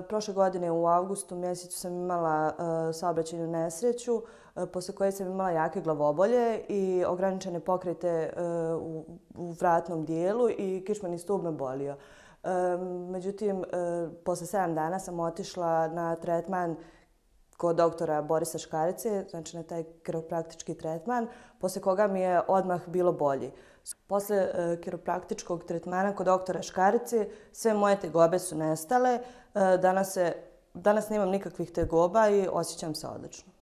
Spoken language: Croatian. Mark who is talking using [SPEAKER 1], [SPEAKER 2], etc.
[SPEAKER 1] Prošle godine u avgustu mjesecu sam imala saobraćajnu nesreću posle koje sam imala jake glavobolje i ograničene pokrete u vratnom dijelu i kičmeni stub me bolio. Međutim, posle 7 dana sam otišla na tretman kod doktora Borisa Škarice, znači na taj kiropraktički tretman, posle koga mi je odmah bilo bolje. Posle kiropraktičkog tretmana kod doktora Škarice sve moje tegobe su nestale. Danas nemam nikakvih tegoba i osjećam se odlično.